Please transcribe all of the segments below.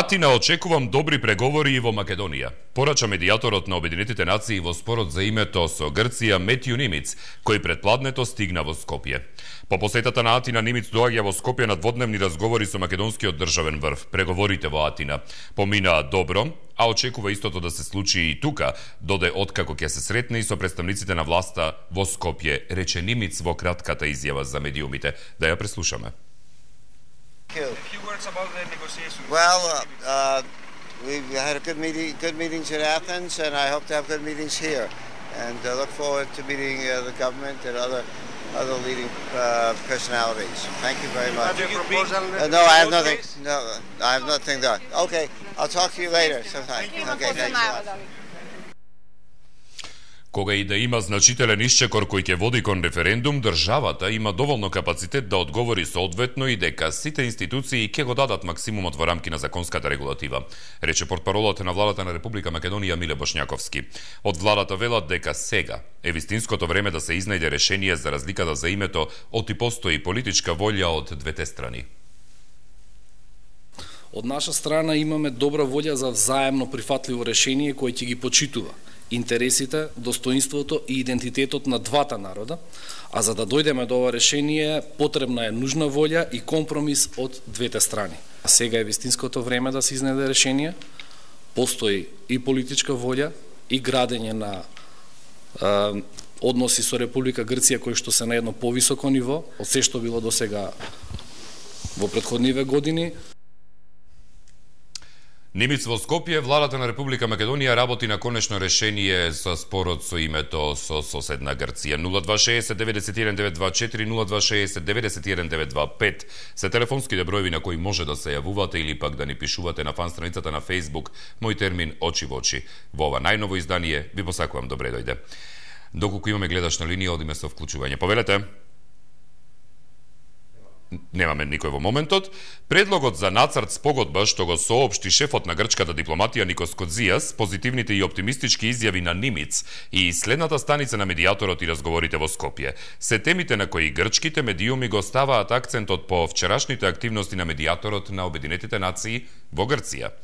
Атина очекувам добри преговори и во Македонија. Порача медијаторот на Обединетите нации во спорот за името со Грција Метју Нимиц, кој предпладнето стигна во Скопје. По посетата на Атина Нимиц доаѓа во Скопје на дводневни разговори со македонскиот државен врв. Преговорите во Атина поминаа добро, а очекува истото да се случи и тука, доде откако ќе се сретне и со представниците на власта во Скопје, рече Нимиц во кратката изјава за медиумите. Да ја преслушаме. A few words about the negotiations. Well, we've had a good meetings in Athens, and I hope to have good meetings here. And look forward to meeting the government and other leading personalities. Thank you very much. No, I have nothing. No, I have nothing done. Okay, I'll talk to you later sometime. Okay, thanks a lot. Кога и да има значителен исчекор кој ќе води кон референдум, државата има доволно капацитет да одговори соодветно и дека сите институции ќе го дадат максимумот во рамки на законската регулатива, рече портпаролот на владата на Република Македонија Миле Бошњаковски. Од владата велат дека сега е вистинското време да се изнајде решение за разликата за името, оти постои политичка волја од двете страни. Од наша страна имаме добра волја за взаемно прифатливо решение кој ќе ги почитува интересите, достоинството и идентитетот на двата народа, а за да дојдеме до ова решение потребна е нужна волја и компромис од двете страни. А сега е вистинското време да се изнајде решение, постои и политичка волја и градење на односи со Република Грција кои што се на едно повисоко ниво од се што било до сега во претходниве години. Нимиц во Скопје, владата на Република Македонија работи на конечно решение за спорот со името со соседна Грција. 0260 91 924 0260 91 925 се телефонските броеви на кои може да се јавувате или пак да ни пишувате на фан страницата на Facebook Мој термин очи во очи. Во ова најново издание ви посакувам добре дојде. Доколку имаме гледачна линија, одиме со вклучување. Повелете. Немаме никој во моментот. Предлогот за нацрт спогодба што го соопшти шефот на грчката дипломатија Никос Кодзијас, позитивните и оптимистички изјави на Нимиц и следната станица на медијаторот и разговорите во Скопје се темите на кои грчките медиуми го ставаат акцентот по вчерашните активности на медијаторот на Обединетите нации во Грција.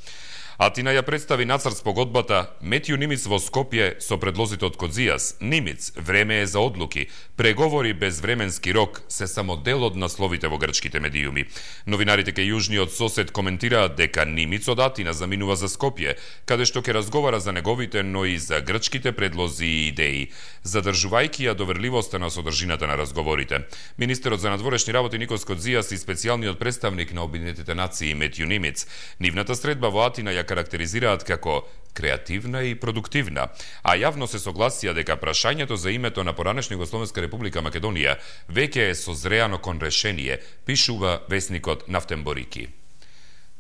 Атина ја представи нацрт спогодбата Метју Нимиц во Скопје со предлозите од Кодзијас. Нимиц, време е за одлуки. Преговори без временски рок се само дел од насловите во грчките медиуми. Новинарите кај јужниот сосед коментираат дека Нимиц од Атина заминува за Скопје, каде што ќе разговара за неговите, но и за грчките предлози и идеи, задржувајќи ја доверливоста на содржината на разговорите. Министерот за надворешни работи Никос Кодзијас и специјалниот представник на Обединетите нации Метју Нимиц, нивната средба во Атина ја карактеризираат како креативна и продуктивна, а јавно се согласија дека прашањето за името на поранешна Југословенска република Македонија веќе е созреано кон решение, пишува весникот Нафтен Борики.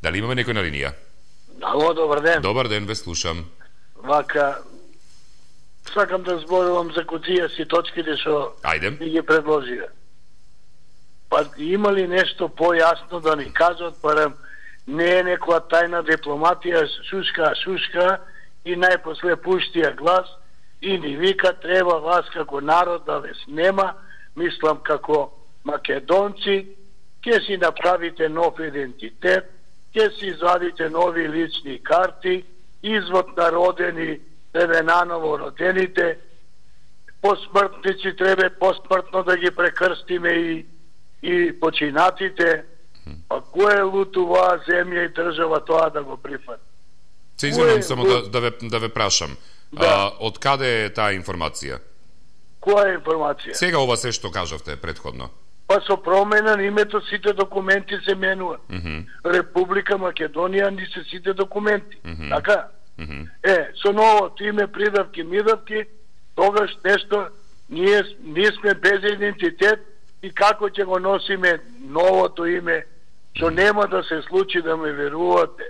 Дали имаме некој на линија? Ало, добар ден. Добар ден, ве слушам. Вака, сакам да зборувам за Кодзијас и точките што ги предложија. Па има ли нешто појасно да ни кажат, барем не е некоја тајна дипломатија, шушка и најпосле пуштија глас и ни вика треба вас како народ да ве снема, мислам како македонци, ќе си направите нов идентитет, ќе си извадите нови лични карти, извод на родени, тебе наново родените, посмртници треба посмртно да ги прекрстиме и починатите. А кој е луто оваа земја и држава тоа да го прифати? Се извинувам само да ве прашам. Да. Од каде е таа информација? Која информација? Сега ова се што кажавте предходно. Па со промена на името сите документи се менува. Република Македонија ни се сите документи. Така? Со новото име, придавки, мидавки, тогаш нешто ние сме без идентитет и како ќе го носиме новото име, што нема да се случи, да ме верувате.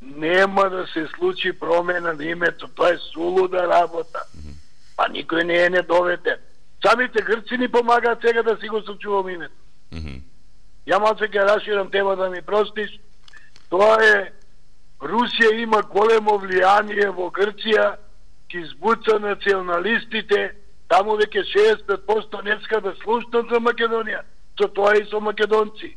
Нема да се случи промена на името, тоа е сулуда работа. Па никој не е недоведен. Самите грци ни помагаат сега да си го сочувам името. Ја малце ќе раширам тема, да ми простиш. Тоа е, Русија има големо влијание во Грција, ки избуца националистите, таму веќе 65% не ска да слушнат за Македонија, со тоа и со македонци.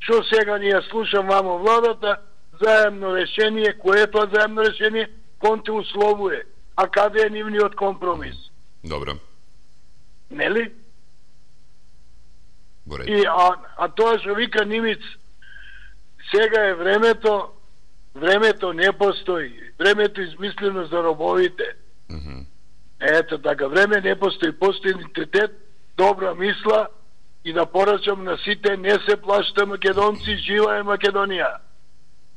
што сега ние слушам вамо владата, заемно решение, кое е тоа заемно решение, кон те условуе, а каде е нивниот компромис? Добро. Нели? Боред. И, а тоа што вика Нимиц, сега е времето не постои, времето измислено за робовите. Ето така, време не постои, постои идентитет, добра мисла и да порачам на сите, не се плаште македонци, жива е Македонија.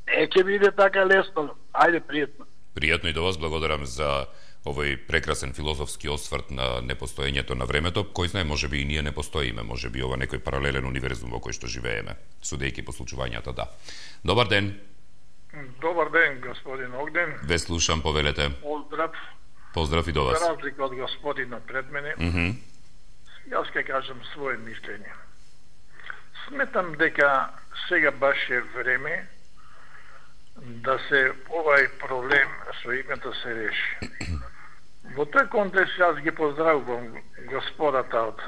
Не ќе биде така лесно. Ајде, пријатно. Пријатно и до вас, благодарам за овој прекрасен филозофски осврт на непостоењето на времето. Кој знае, можеби и ние не постоиме, можеби ова некој паралелен универзум во кој што живееме, судејќи по случувањата, да. Добар ден. Добар ден, господин Огден. Ве слушам, повелете. Поздрав. Поздрав и до вас. За разлика од господинот пред мене, јас ќе кажам свое мислење. Сметам дека сега баш е време да се овај проблем со името се реши. Во тој контекст јас ги поздравувам господата од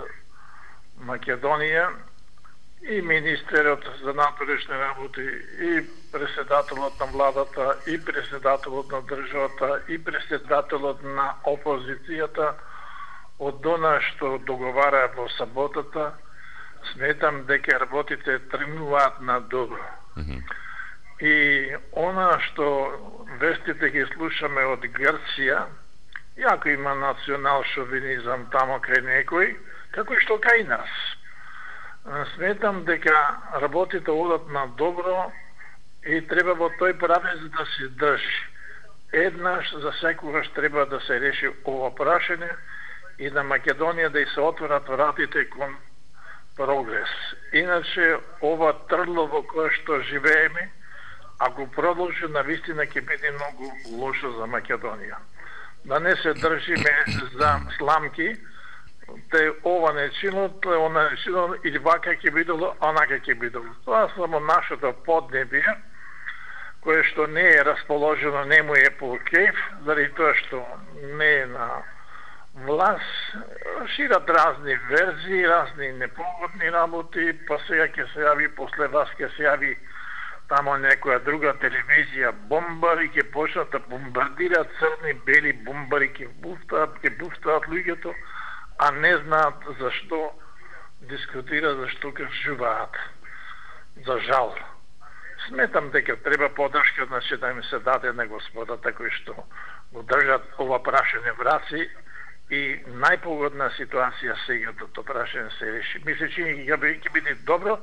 Македонија и министерот за внатрешни работи, и председателот на владата, и председателот на државата, и председателот на опозицијата од она што договара во саботата. Сметам дека работите тргнуваат на добро. И она што вестите ги слушаме од Грција, јако има национал шовинизам тамо кај некој, како и што кај нас. Сметам дека работите одат на добро и треба во тој правец да се држи. Еднаш за секогаш треба да се реши ова прашање и на Македонија да се отворат вратите кон прогрес. Иначе ова трдло во кое што живееме, ако продолжи, навистина ќе биде многу лошо за Македонија. Да не се држиме за сламки, те ова не чино, те она не чино, или вака ќе бидело, онака ќе бидело. Тоа само нашето поднебие, кое што не е расположено, не му е по кеф, заради тоа што не е на власт, шират разни верзии, разни непогодни работи, па сега ќе се јави, после вас ќе се јави тамо некоја друга телевизија, бомбари ќе почнат да бомбардираат, црни, бели бомбари ќе буфтаат луѓето, а не знаат зашто дискутираат, зашто кажуваат. За жал. Сметам дека треба подршка, значи да им се даде на господата кои што го држат ова прашање в раци и најпогодна ситуација сега да тоа прашање се реши. Мисле, че ќе биде добро.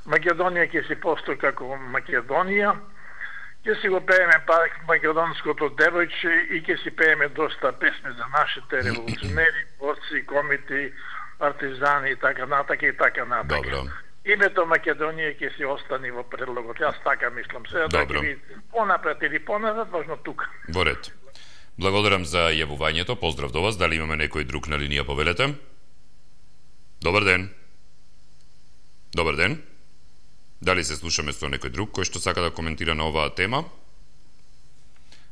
Македонија ќе си постои како Македонија, ќе си го пееме пак македонското девојче и ќе си пееме доста песни за нашите револуционери, борци, комити, партизани и така натака и така натака. Добро. Името Македонија ќе си остани во предлогот. Јас така мислам. Сега да ќе види понапред или поназад, важно тука. Во ред. Благодарам за јавувањето. Поздрав до вас. Дали имаме некој друг на линија, повелете? Добар ден. Добар ден. Дали се слушаме со некој друг кој што сака да коментира на оваа тема?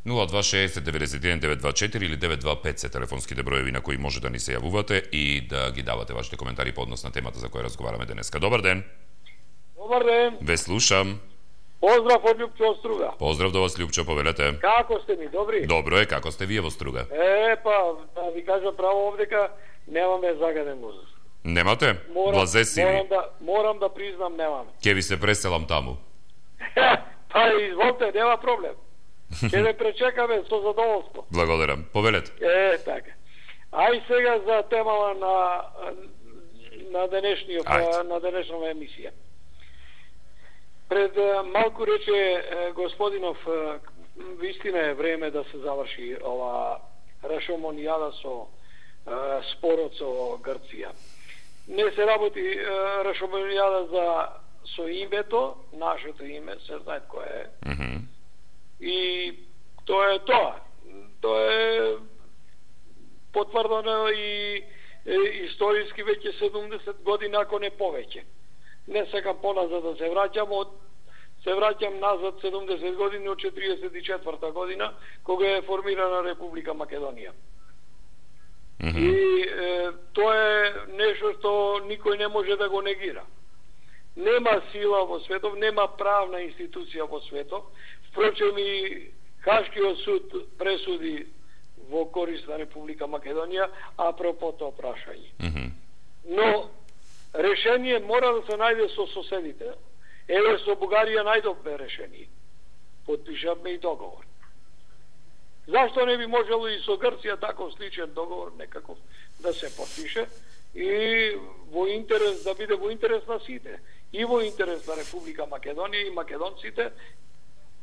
0260-91-924 или 925 се телефонските броеви на кои може да ни се јавувате и да ги давате вашите коментари по однос на темата за која разговараме денеска. Добар ден. Добар ден. Ве слушам. Поздрав од Лјупчо од Струга. Поздрав до вас, Лјупчо, повелете. Како сте ми, добри? Добро е, како сте вие во Струга? Да ви кажа право овдека, немаме загаден мозок. Немате? Влазе си ви? Морам да признам, немаме. Ке ви се преселам таму. Па изволте, нема проблем. Ќе ве пречекаме со задоволство. Благодарам. Повелете. Така. Ај сега за темава на денешната емисија. Пред малку рече господинов, вистина е време да се заврши ова рашомонијада со спорот со Грција. Не се работи рашомонијада со името, нашето име, се знае кое е. И тоа е тоа. Тоа е потврдено и историски веќе 70 години, ако не повеќе. Не сакам поназад да се враќам, се враќам назад 70 години од 44 година, кога е формирана Република Македонија. И тоа е нешто што никој не може да го негира. Нема сила во светов, нема правна институција во светов. Впрочем и Хашкиот суд пресуди во корист на Република Македонија апропо тоа прашање. Но решение мора да се најде со соседите. Еве со Бугарија најдовме решение. Потпишавме и договор. Зашто не би можело и со Грција таков сличен договор некаков да се потпише и во интерес да биде во интерес на сите, и во интерес на Република Македонија и македонците,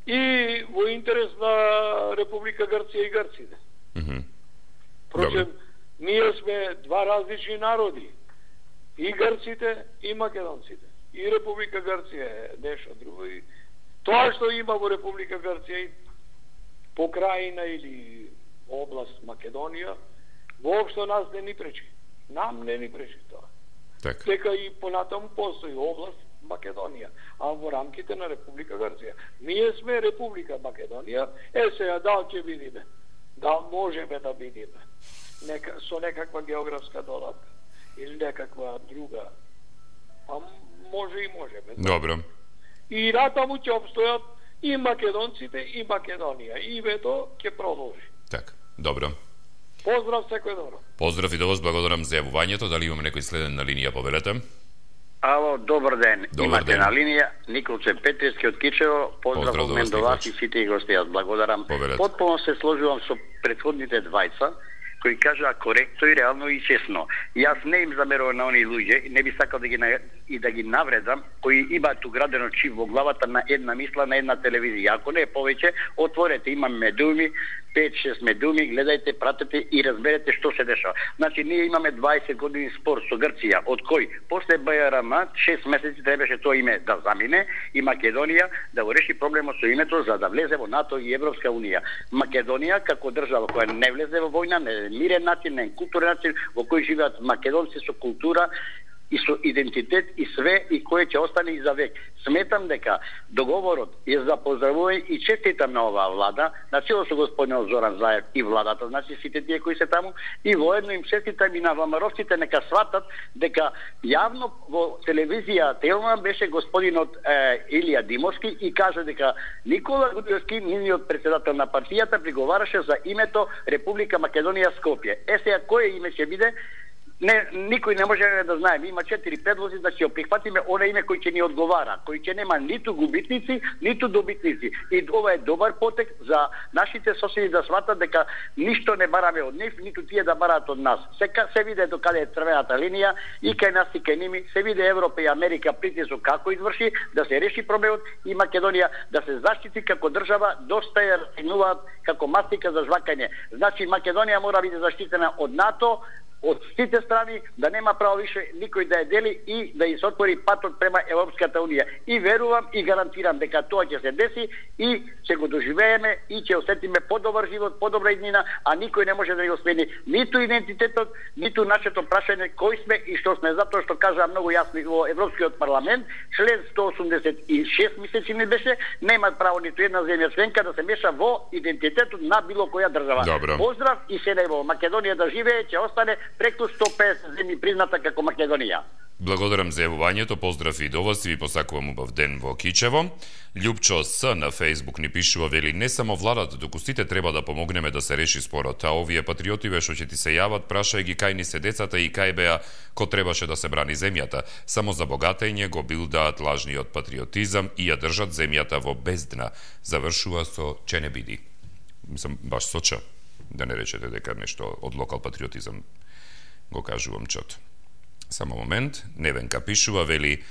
и во интерес на Република Грција и грците. Впрочем, ние сме два различни народи. И грците, и македонците. И Република Грција е нешто друго. И тоа што има во Република Грција и покрајина или област Македонија, воопшто нас не ни пречи. Нам не ни пречи тоа. Дека и понатаму постои област Македонија, а во рамките на Република Грција. Ние сме Република Македонија, сега дал ќе видиме. Да можеме да видиме. Со некаква географска додатка или некаква друга. А може и можеме. Добро. И натаму ќе обстојат и македонците и Македонија. И вето ќе продолжи. Така, добро. Поздрав, секој добро. Поздрав и до вас, благодарам за јавувањето. Дали имаме некој следен на линија, повелете? Ало, добар ден. Имате на линија Николче Петриски од Кичево. Поздрав од мен до вас и сите гости. Јас благодарам. Потполно се сложувам со претходните двајца кои кажаа коректно и реално и честно. Јас не им замерувам на оние луѓе, не би сакал да ги навредам, кои имаат уградено чип во главата на една мисла на една телевизија. Ако не е повеќе, отворете, имам медуми, 5-6 медуми, гледајте, пратете и разберете што се дешава. Значи, ние имаме 20 години спор со Грција, од кој после БРМ 6 месеци требаше тоа име да замине и Македонија да го реши проблемот со името за да влезе во НАТО и Европска унија. Македонија како држава која не влезе во војна, не мирен начин, не културен начин во кој живеат македонци со култура и со идентитет и све и кој ќе остане и за век. Сметам дека договорот е за поздравување и честитам на оваа влада, на чело со господинот Зоран Заев и владата, значи сите тие кои се таму, и воедно им честитам и на ВМРО-вците нека сватат дека јавно во телевизија Телма беше господинот Илија Димовски и кажа дека Никола Груевски, нивниот председател на партијата, приговараше за името Република Македонија Скопје. Сега кој име ќе биде? Никој не може да знае. Има 4 предлози да ќе прихватиме она име кој ќе ни одговара, кој ќе нема ниту губитници, ниту добитници. И ова е добар потек за нашите соседи да сватат дека ништо не бараме од нив, ниту тие да бараат од нас. Се виде до каде е црвената линија и кај нас и кај ними, се виде Европа и Америка притисок како изврши да се реши проблемот и Македонија да се заштити како држава, доста ја расценуваат како мастика за жвакање. Значи Македонија мора биде заштитена од НАТО, од сите страни, да нема право више никој да ја дели и да ја се отвори патот према Европската унија. И верувам и гарантирам дека тоа ќе се деси и ќе го доживееме и ќе осетиме подобар живот, подобра иднина, а никој не може да го смени ниту идентитетот, ниту нашето прашање кој сме и што сме, затоа што кажа многу јасно во Европскиот парламент, член 186 мислечи не беше, нема право ниту една земја членка да се меша во идентитетот на било која држава. Добро. Поздрав и се најбо. Македонија да живее, ќе остане преку 150 земји призната како Македонија. Благодарам за јавувањето, поздрав и до вас и ви посакувам убав ден во Кичево. Љупчо С на Фејсбук ни пишува, вели, не само владата, туку сите треба да помогнеме да се реши спорот, а овие патриотиве што ќе ти се јават, прашај ги кај ни се децата и кај беа ко требаше да се брани земјата. Само за богатење го билдаат лажниот патриотизам и ја држат земјата во бездна. Завршува со че не биди. Мислам, баш со че. Да не речете дека нешто од локал патриотизам го кажувам чот. Само момент, Невенка пишува, вели,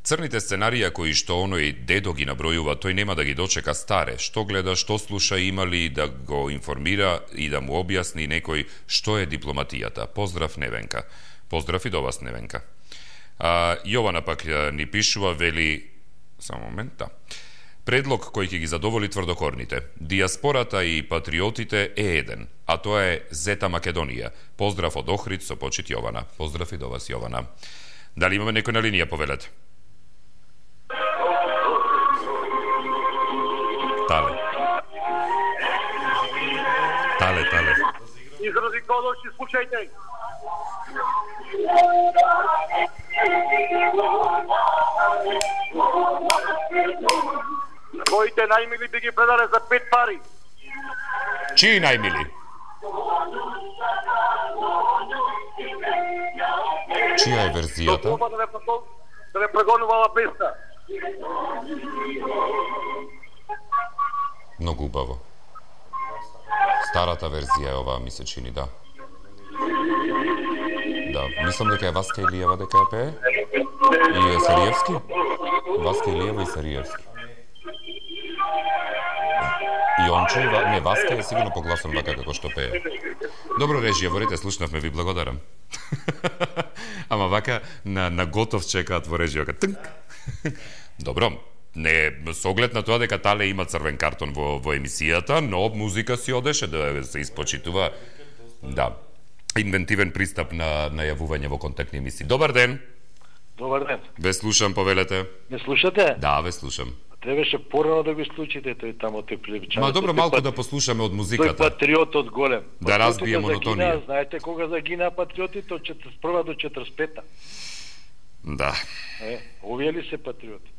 црните сценарија кои што оној дедо ги набројува, тој нема да ги дочека старе. Што гледа, што слуша, има ли да го информира и да му објасни некој што е дипломатијата. Поздрав, Невенка. Поздрав и до вас, Невенка. Јована пак ни пишува, вели, само момент, да. Предлог кој ќе ги задоволи тврдокорните. Диаспората и патриотите е еден, а тоа е Зета Македонија. Поздрав од Охрид со почит Јована. Поздрав и до вас, Јована. Дали имаме некој на линија, повелете? Тале. Изрази кодочи, слушајте. Твоите најмили би ги предале за 5 пари. Чии најмили? Чија е верзијата? Да не прегонувала песна. Многу убаво. Старата верзија е оваа, ми се чини, да. Да, мислам дека е Васка Илиева дека ја пее. И Сариевски. Васка Илиева и Сариевски. И Ончо, не, Васка е сигурно погласон вака како што пее. Добро, режија, ворите, слушнавме, ви благодарам. Ама вака на готов чекаат во режијата. Тнк. Добро, не со оглед на тоа дека Тале има црвен картон во емисијата, но музика си одеше да се испочитува. Да. Инвентивен пристап на јавување во контактни емисии. Добар ден. Добар ден. Ве слушам, повелете. Не слушате? Да, ве слушам. Требаше порано да го слушате тој тамо тој приличан. Ма добро, малку да послушаме од музиката. Тој патриотот голем. Да разбие монотонија. Знаете кога загинаа патриотите од 41 до 45-та? Да. Овие ли се патриоти?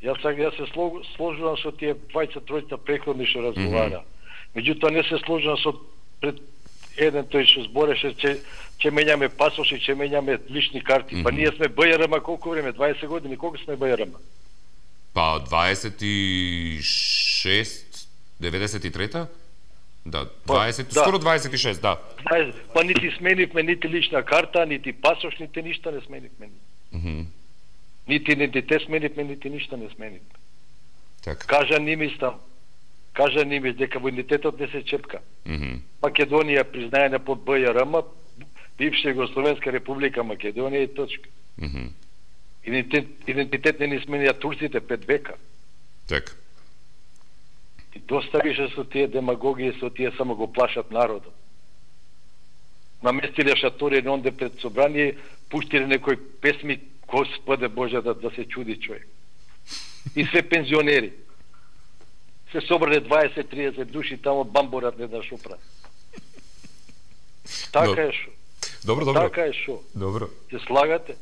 Јас се сложувам со тие двајца-тројца преходни што разговара. Меѓутоа не се сложувам со пред еден тој што збореше че менјаме пасоши, че менјаме лични карти. Па ние сме БЈРМ колку време? 20 години. Колку сме БЈРМ? Па 26, 93-та? Да, 20, скоро 26, да. Па нити сменивме нити лична карта, нити пасош, нити ништо не сменивме. Нити идентитет сменивме, нити ништо не сменивме. Така. Кажа Нимис дека во идентитетот не се чепка. Македонија признаена под БЈРМ, бивша Југословенска република Македонија и точка. Идентитет не сменија турците 5 века. Така. И доста више со тие демагогии, со тие само го плашат народот. Наместиле шатори онде пред собрание, пуштиле некои песми, Господе Боже, да се чуди човек. И се пензионери. Се собрале 20-30 души тамо бамборат не да шопра. Така е шо. Добро. Така е шо. Добро. Се слагате?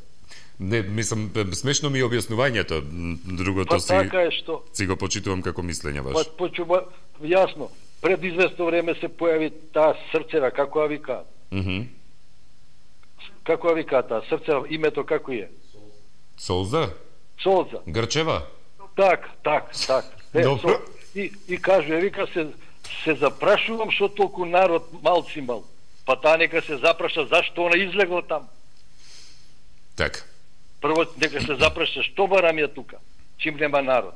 Не, мислам, смешно ми е објаснувањето. Другото па, така е што. Си го почитувам како мислење ваш. Па, јасно. Пред известно време се појави таа Срцева, како ја викаат? Како ја викаат таа Срцева, името како е? Солза? Грчева? Так. Добро. И кажува, вика се запрашувам што толку народ малци мал. Па таа нека се запраша зашто она излегла там. Така. Прво нека се запраша што барам ја тука, чим нема народ.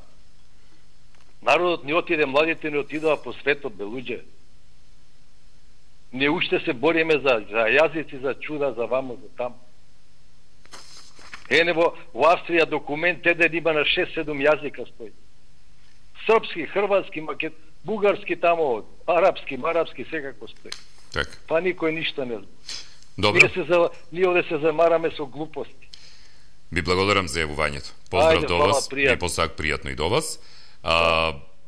Народот не отиде, младите не отидува по светот, бе луѓе. Не уште се бориме за јазици, за чуда, за вамо, за там. Во Австрија документ еден има на 6-7 јазика стои. Српски, хрватски, бугарски тамо, арапски, секако стои. Так. Па никој ништо не знае. Добро. Ние овде се замараме со глупости. Ви благодарам за јавувањето. Поздрав до вас, и посак пријатно и до вас.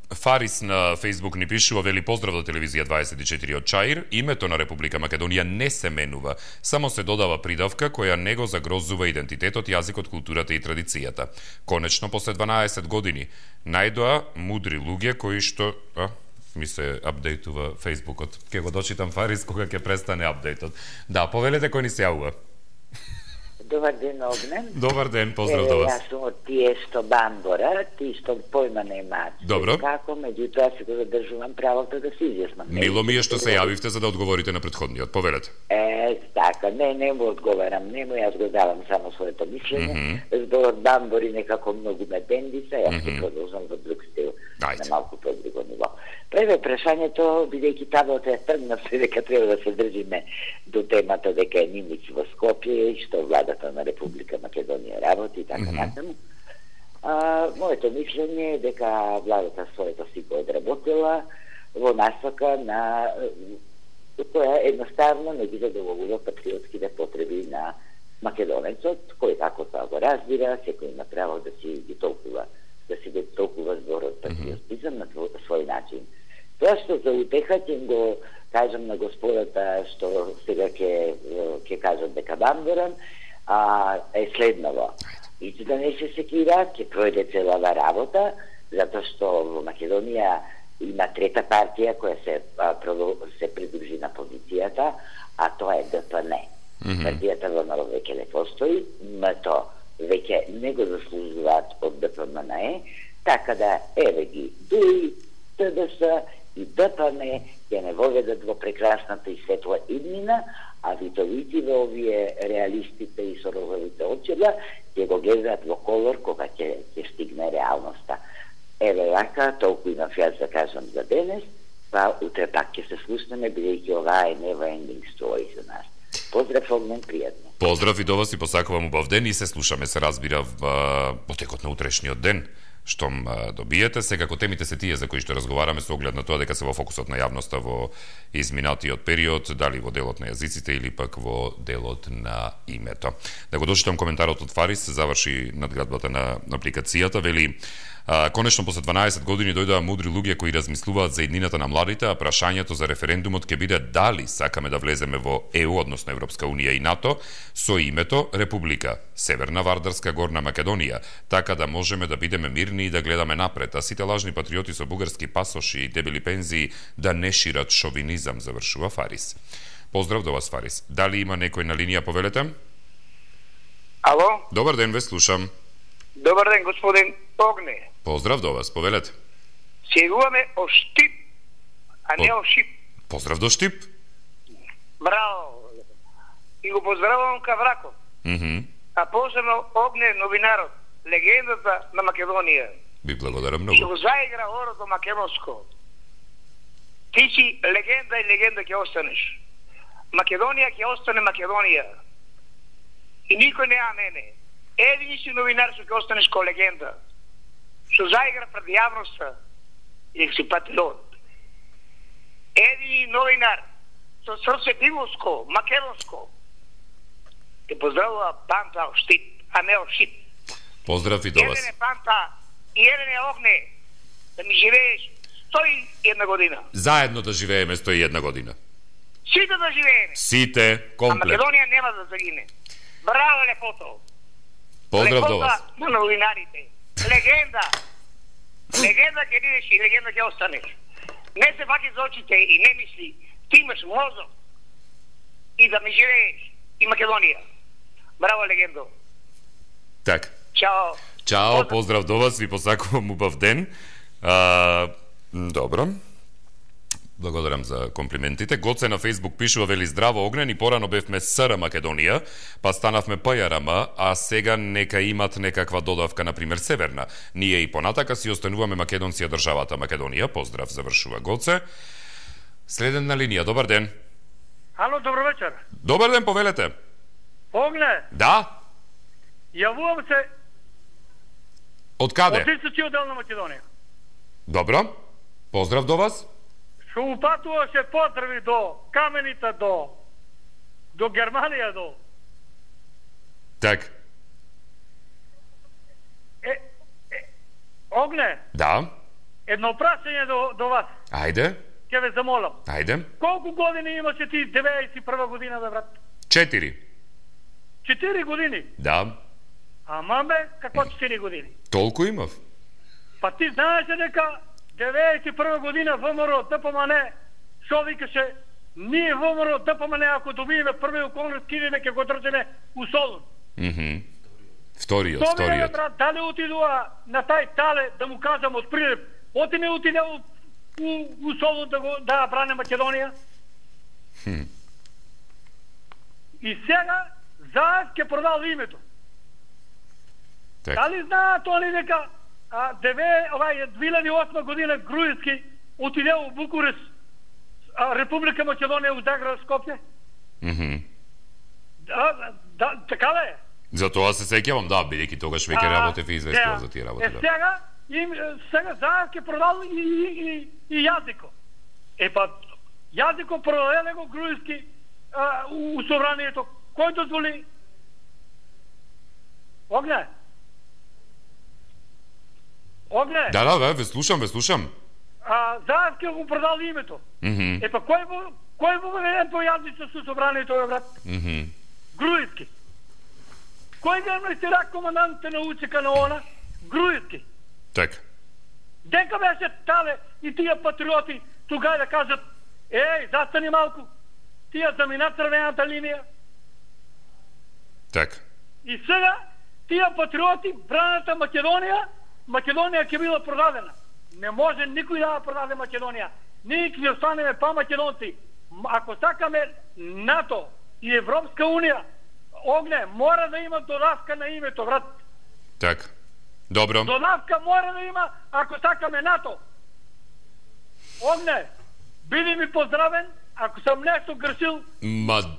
Фарис на Фейсбук ни пишува, вели поздрав до телевизија 24 од Чаир. Името на Република Македонија не се менува, само се додава придавка која не го загрозува идентитетот, јазикот, културата и традицијата. Конечно, после 12 години најдоа мудри луѓе кои што... ми се апдейтува Фейсбукот. Ке го дочитам, Фарис, кога ќе престане апдейтот. Да, повелете кој ни се јавува. Добар ден, Огнен. Добар ден, поздрав до вас. Јас сум од тие што бамбора, ти што појма не имаат. Добро. Како, меѓутоа си го задржувам правото да се изјаснам. Мило ми е што се јавивте за да одговорите на претходниот. Повелете. Така, не му одговарам, јас го давам само своето мислење. Зборот бамбори некако многу ме бендиса, јас се продолжам во друг стил, на малку по-друго ниво. Прво прашањето, бидејќи табот е тргнав се дека треба да се држиме до темата дека е Нимиц во Скопје и што владата на Република Македонија работи и така натаму. Моето мислење е дека владата своето си го одработила во насока на која едноставно не ги задоволува патриотските потреби на македонецот, кој како тоа го разбира, секој има право да си ги толкува зборот патриотизам на свој начин. Тоа што за утеха ќе го кажам на господата што сега ќе кажат дека бамборам, е следново. ниту да не се секираат, ќе пројде целава работа, затоа што во Македонија има трета партија која се придружи на позицијата, а тоа е ДПН. Партијата ВМРО веќе не постои, МТО веќе не го заслужуваат од ДПМНЕ, така да еве ги ДУИ, ТДС и ДПН ќе не воведат во прекрасната и светла иднина, а витовите овие реалистите и сорозовите очила ќе го гледаат во колор кога ќе стигне реалноста. Еве вака, толку имав јас да кажам за денес, па утре пак ќе се слушнеме, бидејќи оваа е never ending story за нас. Поздрав, Огнен, пријатно. Поздрав и до вас и посакувам убав ден и се слушаме, се разбира, во текот на утрешниот ден, штом добиете. Секако темите се тие за кои што разговараме со оглед на тоа дека се во фокусот на јавноста во изминатиот период, дали во делот на јазиците или пак во делот на името. Да го дочитам коментарот од Фарис, заврши надградбата на апликацијата, вели: конечно после 12 години дојдоа мудри луѓе кои размислуваат за иднината на младите, а прашањето за референдумот ќе биде дали сакаме да влеземе во ЕУ, односно Европска унија и НАТО, со името Република Северна Вардарска Горна Македонија, така да можеме да бидеме мирни и да гледаме напред, а сите лажни патриоти со бугарски пасоши и дебели пензии да не шират шовинизам, завршува Фарис. Поздрав до вас, Фарис. Дали има некој на линија, повелете? Ало? Добар ден, ве слушам. Добар ден, господин Огне. Поздрав до вас, повелете. Се јавуваме о Штип, а не о Шип. Поздрав до Штип. Браво. И го поздравувам Кавраков. А посебно Огне, новинарот, легендата на Македонија. Ви благодарам многу. Што заигра орото македонско. Ти си легенда и легенда ќе останеш. Македонија ќе остане Македонија. И никој не мене. Едини си новинар што ќе останеш ко легенда. Што заигра пред јавноста и си патриот. Едини новинар со срце дивоско, македонско. Те поздравува Панта о Штип, а не о Шип. Поздрав и до вас. Еден е Панта и еден е Огне. Да ми живееш 101 година. Заедно да живееме 101 година. Сите да живееме. Сите, комплет. А Македонија нема да загине. Браво, лепото. Поздрав до вас. Лепота на новинарите. Легенда. Легенда ќе бидеш и легенда ќе останеш. Не се фаќи за очите и не мисли. Ти имаш мозок. И да ми живееш. И Македонија. Браво, легендо. Так. Чао. Чао, поздрав до вас, ви посакувам убав ден. Добро. Благодарам за комплиментите. Гоце на Фейсбук пишува, вели: здраво, Огнен, и порано бевме СР Македонија, па станавме ПЈРМ, а сега нека имат некаква додавка, например Северна. Ние и понатака си остануваме македонција државата Македонија. Поздрав, завршува Гоце. Следен на линија, добар ден. Ало, добро вечер. Добар ден, повелете. Огне. Да. Јавувам се од каде? Од Источниот дел на Македонија. Добро. Поздрав до вас. Што упатуваше поздрави до Каменита, до Германија, до... Так. Огне. Да. Едно прашање до вас. Ајде. Ке ве замолам. Ајде. Колку години имаше ти 91 година, бе, брат? 4. 4 години? Да. Ама бе, како 4 години? Толку имав. Па ти знаеше дека 91 година ВМРО ДПМН што викаше, ние ВМРО ДПМН ако добиеме први околност кидеме ќе го држиме у Солун. Вториот. Брат, дали отидува на тај тале да му кажам од Прилеп, оти не отиде у Солун да бране Македонија? И сега заед ќе продал името. Дали знаат они дека 2008 година Груевски отиде у Букурес, Република Македонија у Загреб, Скопје? Така ли е? За тоа се сеќавам, да, бидејќи тогаш веќе работев и известував за тие работи. Сега заед ќе продал и Јазико. Па Јазико продаде го Груевски у собранието. Кој дозволи? Огне? Огне? Да, ве слушам. Заед ќе го продал името. Па кој во воведен по Јазико со собранието, брат? Груевски. Кој ден сте рак командантите на УЦК на ОНА? Груевски. Така. Дека беше Тале и тие патриоти тугај да кажат: еј, застани малку, тие замина црвената линија. Така. И сега тие патриоти браната Македонија ќе била продадена. Не може никој да продаде Македонија. Ние ќе останеме па македонци. Ако сакаме НАТО и Европска унија, Огне, мора да има додавка на името, брат. Така. Добро. Додавка мора да има ако сакаме НАТО. Огне, биди ми поздравен, ако сам нешто грешил,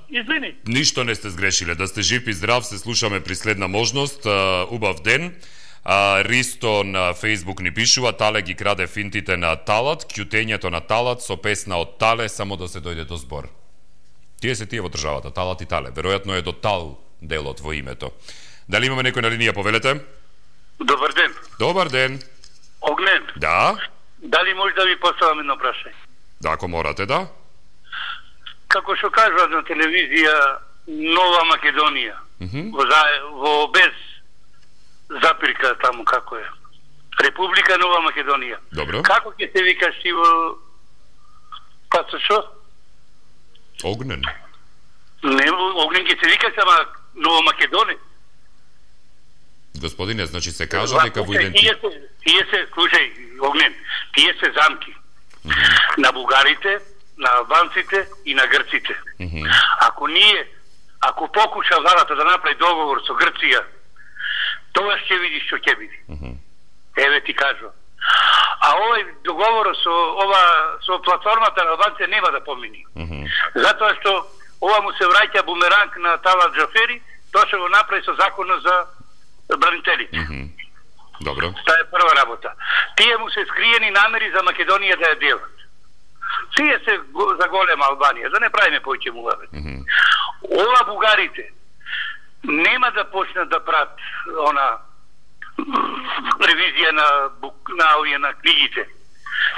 извини. Ништо не сте сгрешиле. Да сте жив и здрав, се слушаме при следна можност. Убав ден. Ристо на Фейсбук ни пишува: Тале ги краде финтите на Талат, кјутењето на Талат со песна од Тале, само да се дојде до збор. Тие се тие во државата, Талат и Тале. Веројатно е до Тал делот во името. Дали имаме некој на линија, повелете? Добар ден. Добар ден. Огнен. Да. Дали може да ви поставам едно прашање? Да, ако морате, да. Како што кажуват на телевизија Нова Македонија, во без запирка таму како е. Република Нова Македонија. Добро. Како ќе се викаш ти во пасошо? Огнен. Не, Огнен ќе се викаш, ама Нова Македонија. Господине, значи се кажа дека во идентитет. Тие се, слушај, Огнен, тие се замки на бугарите, на албанците и на грците. Ако покуша владата да направи договор со Грција, тоа ќе видиш што ќе биде. Еве ти кажувам. А овој договор со платформата на албанците нема да помини. Затоа што ова му се враќа бумеранг на Талат Джафери, тоа што го направи со законот за бранителите. Добро. Таа е прва работа. Тие му се скриени намери за Македонија да ја делат. Тие се за голема Албанија, да не правиме повеќе муавет. Ова бугарите нема да почнат да прават ревизија на книгите.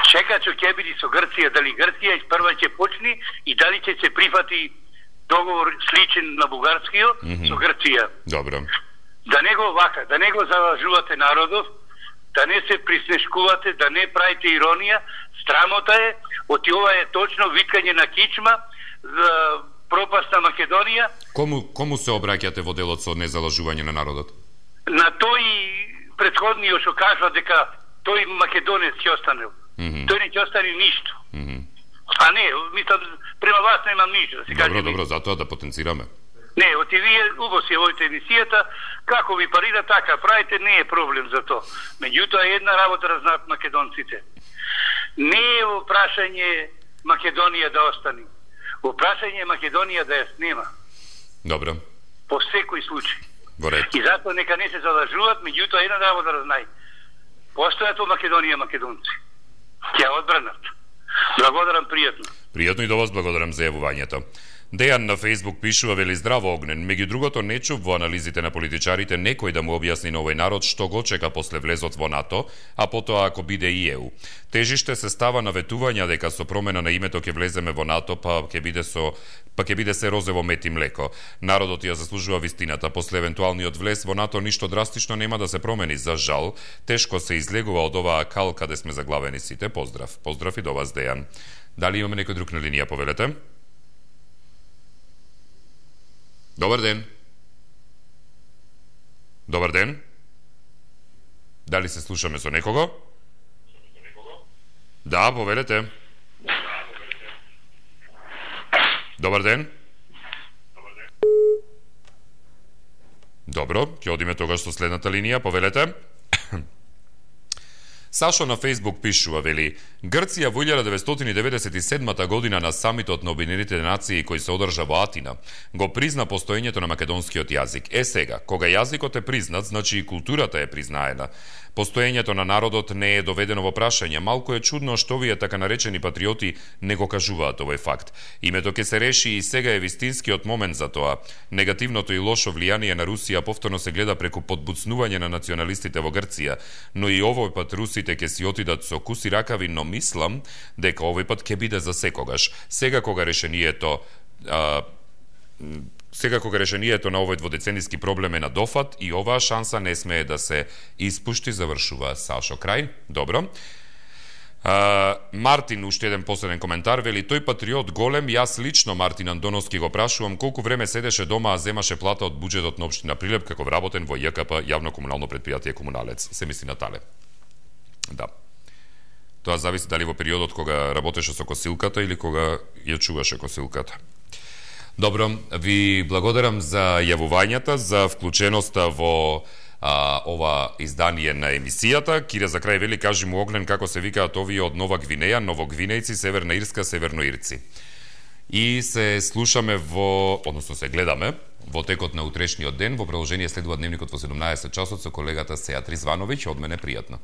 Чекат што ќе биде со Грција, дали Грција прва ќе почне и дали ќе се прифати договор сличен на бугарскиот со Грција. Добро. Да не го вака, да не го залажувате народов, да не се приснешкувате, да не правите иронија. Страмота е, оти ова е точно виткање на кичма за пропаст на Македонија. Кому се обраќате во делот со незалажување на народот? На тој претходниот што кажува дека тој македонец ќе останел. Тој не ќе остане ништо. А не, мислам, према вас немам ништо, да се каже. Добро, затоа да потенцираме. Не, оти вие убаво си водите емисијата, како ви парира така правите, не е проблем за тоа. Меѓутоа една работа да знаат македонците. Не е во прашање Македонија да остане. Во прашање Македонија да ја снема. Добро. По секој случај. Ворет. И затоа нека не се залажуваат, меѓутоа една работа да знај. Постојат во Македонија македонци. Ќе одбранат. Благодарам, пријатно. Пријатно и до вас благодарам за јавувањето. Дејан на Фейсбук пишува: вели здраво Огнен, меѓу другото не чув во анализите на политичарите некој да му објасни на овој народ што го чека после влезот во НАТО, а потоа ако биде и ЕУ. Тежиште се става на ветувања дека со промена на името ќе влеземе во НАТО, па ќе биде се розево мет и млеко. Народот ја заслужува вистината. После евентуалниот влез во НАТО ништо драстично нема да се промени, за жал. Тешко се излегува од оваа кал каде сме заглавени сите. Поздрав. Поздрав и до вас, Дејан. Дали имаме некој друг на линија, повелете? Добар ден. Добар ден. Дали се слушаме со некого? Да, повелете. Добар ден. Добро, ќе одиме тогаш со следната линија, повелете. Сашо на Фейсбук пишува, вели: Грција во 1997 година на самитот на Обединетите нации кој се одржа во Атина, го призна постоењето на македонскиот јазик. Сега, кога јазикот е признат, значи и културата е признаена. Постоењето на народот не е доведено во прашање. Малку е чудно што овие така наречени патриоти не го кажуваат овој факт. Името ќе се реши и сега е вистинскиот момент за тоа. Негативното и лошо влијание на Русија повторно се гледа преку подбуцнување на националистите во Грција, но и овој пат русите ќе си отидат со куси ракави, но мислам дека овој пат ќе биде за секогаш. Сега кога решението Секако решението на овој дводецениски проблем е на дофат и оваа шанса не смее да се испушти, завршува Сашо крај. Добро. Мартин, уште еден последен коментар, вели тој патриот голем, јас лично Мартин Андоновски го прашувам колку време седеше дома, а земаше плата од буџетот на општина Прилеп како вработен во ЈКП, јавно комунално претпријатие Комуналец. Се мисли на Тале. Да. Тоа зависи дали во периодот кога работеше со косилката или кога ја чуваше косилката. Добро, ви благодарам за јавувањата, за вклученоста во ова издание на емисијата. Кире за крај вели, кажи му Огнен како се викаат овие од Нова Гвинеја, Новогвинејци, Северна Ирска, Северноирци. И се слушаме односно се гледаме во текот на утрешниот ден. Во продолжение следува дневникот во 17 часот со колегата Сеат Ризвановиќ. Од мене пријатно.